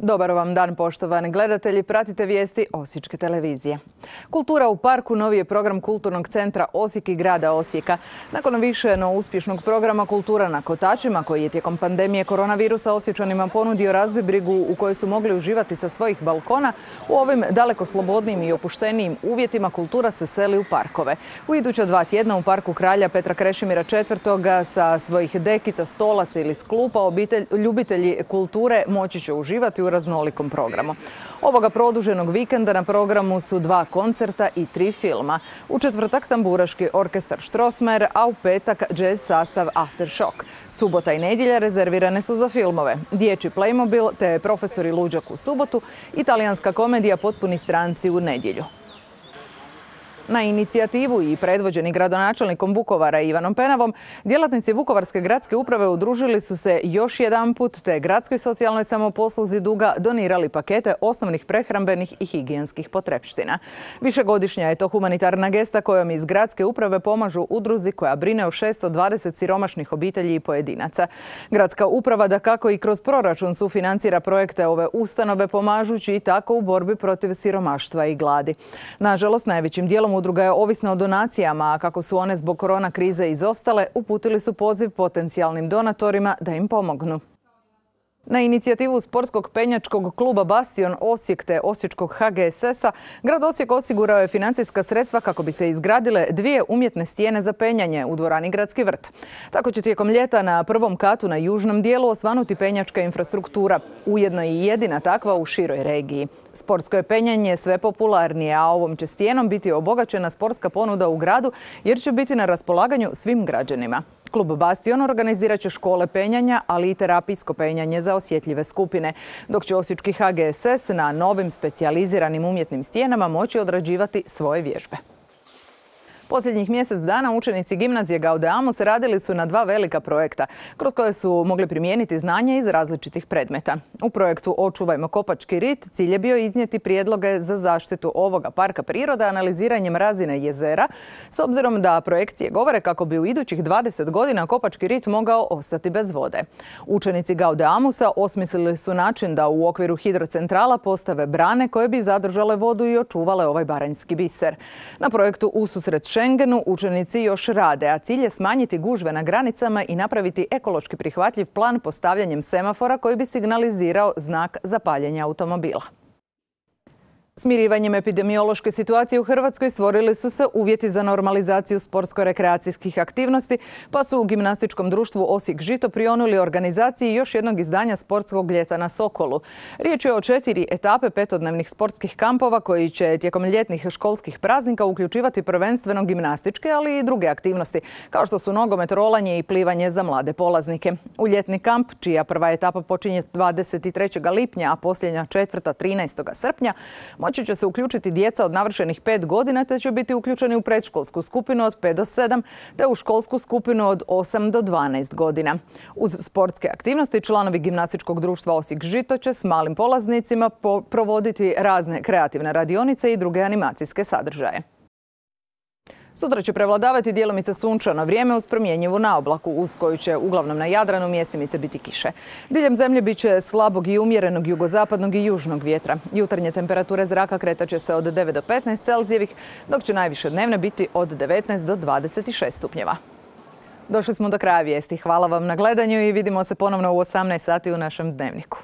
Dobar vam dan, poštovani gledatelji. Pratite vijesti Osječke televizije. Kultura u parku novi je program Kulturnog centra Osijek i grada Osijeka. Nakon više no uspješnog programa Kultura na kotačima, koji je tijekom pandemije koronavirusa Osječanima ponudio razbibrigu u kojoj su mogli uživati sa svojih balkona, u ovim daleko slobodnijim i opuštenijim uvjetima kultura se seli u parkove. U iduća 2 tjedna u parku Kralja Petra Krešimira IV. Sa svojih dekica, stolaca ili sklupa ljubitelji kulture moći će uživati u raznolikom programu. Ovoga produženog vikenda na programu su 2 koncerta i 3 filma. U četvrtak tamburaški orkestar Strossmayer, a u petak jazz sastav Aftershock. Subota i nedjelja rezervirane su za filmove. Dječji Playmobil te Profesori luđak u subotu, italijanska komedija Potpuni stranci u nedjelju. Na inicijativu i predvođeni gradonačelnikom Vukovara Ivanom Penavom, djelatnici Vukovarske gradske uprave udružili su se još jedanput te gradskoj socijalnoj samoposluzi Duga donirali pakete osnovnih prehrambenih i higijenskih potrepština. Višegodišnja je to humanitarna gesta kojom iz gradske uprave pomažu udruzi koja brine o 620 siromašnih obitelji i pojedinaca. Gradska uprava dakako i kroz proračun sufinancira projekte ove ustanove, pomažući i tako u borbi protiv siromaštva i gladi. Nažalost, najvećim dijelom udruga je ovisna o donacijama, a kako su one zbog korona krize izostale, uputili su poziv potencijalnim donatorima da im pomognu. Na inicijativu sportskog penjačkog kluba Bastion Osijek te osječkog HGSS-a, grad Osijek osigurao je financijska sredstva kako bi se izgradile 2 umjetne stijene za penjanje u dvorani Gradski vrt. Tako će tijekom ljeta na prvom katu na južnom dijelu osvanuti penjačka infrastruktura, ujedno i jedina takva u široj regiji. Sportsko je penjanje sve popularnije, a ovom će stijenom biti obogaćena sportska ponuda u gradu jer će biti na raspolaganju svim građanima. Klub Bastion organizirat će škole penjanja, ali i terapijsko penjanje za osjetljive skupine, dok će osječki HGSS na novim specijaliziranim umjetnim stijenama moći odrađivati svoje vježbe. Posljednjih mjesec dana učenici gimnazije Gaudeamus radili su na 2 velika projekta, kroz koje su mogli primijeniti znanje iz različitih predmeta. U projektu Očuvajmo Kopački rit cilj je bio iznijeti prijedloge za zaštitu ovoga parka prirode analiziranjem razine jezera, s obzirom da projekcije govore kako bi u idućih 20 godina Kopački rit mogao ostati bez vode. Učenici Gaudeamusa osmislili su način da u okviru hidrocentrala postave brane koje bi zadržale vodu i očuvale ovaj baranjski biser. Na projektu Ususret Schengenu učenici još rade, a cilj je smanjiti gužve na granicama i napraviti ekološki prihvatljiv plan postavljanjem semafora koji bi signalizirao znak za paljenje automobila. Smirivanjem epidemiološke situacije u Hrvatskoj stvorili su se uvjeti za normalizaciju sportsko-rekreacijskih aktivnosti, pa su u gimnastičkom društvu Osijek Žito prionuli organizaciji još jednog izdanja sportskog ljeta na Sokolu. Riječ je o 4 etape 5-dnevnih sportskih kampova koji će tijekom ljetnih školskih praznika uključivati prvenstveno gimnastičke, ali i druge aktivnosti, kao što su nogomet, rolanje i plivanje za mlade polaznike. U ljetni kamp, čija prva etapa počinje 23. lipnja, a posljednja 4. 13. srpnja, moći će se uključiti djeca od navršenih 5 godina te će biti uključeni u predškolsku skupinu od 5 do 7 te u školsku skupinu od 8 do 12 godina. Uz sportske aktivnosti članovi gimnastičkog društva Osijek Žito će s malim polaznicima provoditi razne kreativne radionice i druge animacijske sadržaje. Sutra će prevladavati djelomice sunčano vrijeme uz promjenjivu naoblaku, uz koju će uglavnom na Jadranu mjestimice biti kiše. Diljem zemlje bit će slabog i umjerenog jugozapadnog i južnog vjetra. Jutarnje temperature zraka kretat će se od 9 do 15 Celzijevih, dok će najviše dnevne biti od 19 do 26 stupnjeva. Došli smo do kraja vijesti. Hvala vam na gledanju i vidimo se ponovno u 18 sati u našem dnevniku.